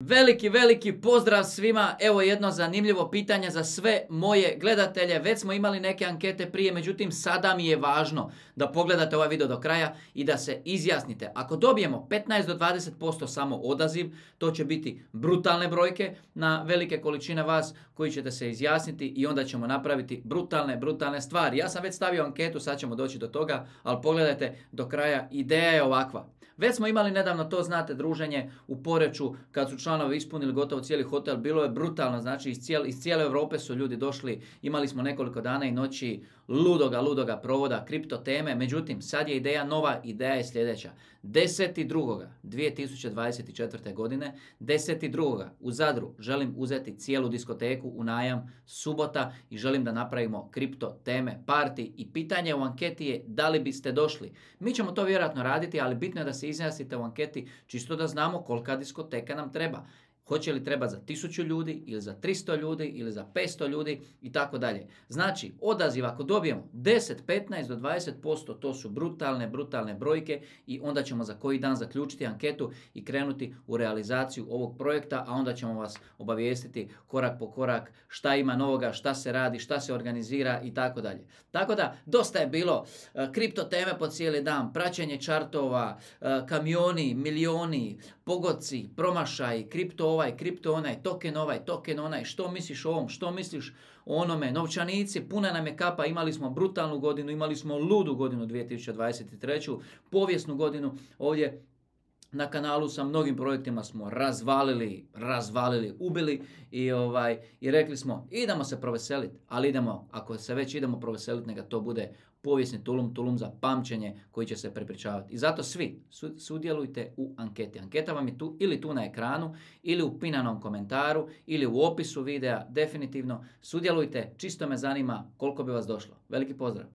Veliki pozdrav svima. Evo jedno zanimljivo pitanje za sve moje gledatelje. Već smo imali neke ankete prije, međutim sada mi je važno da pogledate ovaj video do kraja i da se izjasnite. Ako dobijemo 15 do 20% samo odaziv, to će biti brutalne brojke na velike količine vas koji ćete se izjasniti i onda ćemo napraviti brutalne stvari. Ja sam već stavio anketu, sad ćemo doći do toga, ali pogledajte do kraja, ideja je ovakva. Već smo imali nedavno, to znate, druženje u Poreču kad su članovi ispunili gotovo cijeli hotel. Bilo je brutalno, znači iz cijele Europe su ljudi došli. Imali smo nekoliko dana i noći ludoga provoda, kripto teme. Međutim, sad je ideja nova, ideja je sljedeća. 10.2.2024. godine, 10.2. u Zadru želim uzeti cijelu diskoteku u najam, subota, i želim da napravimo kripto teme party i pitanje u anketi je da li biste došli. Mi ćemo to vjerojatno raditi, ali bitno je da se izjasnite u anketi čisto da znamo kolika diskoteka nam treba. Hoće li treba za 1000 ljudi ili za 300 ljudi ili za 500 ljudi i tako dalje. Znači, odaziv ako dobijemo 10, 15 do 20%, to su brutalne brojke i onda ćemo za koji dan zaključiti anketu i krenuti u realizaciju ovog projekta, a onda ćemo vas obavijestiti korak po korak šta ima novoga, šta se radi, šta se organizira i tako dalje. Tako da, dosta je bilo kripto teme po cijeli dan, praćenje čartova, kamioni, milioni, pogodci, promašaj, kripto ovaj, kripto onaj, token onaj, što misliš o ovom, što misliš o onome, novčanici, puna nam je kapa, imali smo brutalnu godinu, imali smo ludu godinu 2023. Povijesnu godinu ovdje na kanalu sa mnogim projektima smo razvalili, ubili i rekli smo idemo se proveseliti, ali ako se već idemo proveseliti, neka to bude povijesni tulum za pamćenje koji će se prepričavati. I zato svi sudjelujte u anketi. Anketa vam je tu na ekranu, ili u pinanom komentaru, ili u opisu videa. Definitivno sudjelujte, čisto me zanima koliko bi vas došlo. Veliki pozdrav!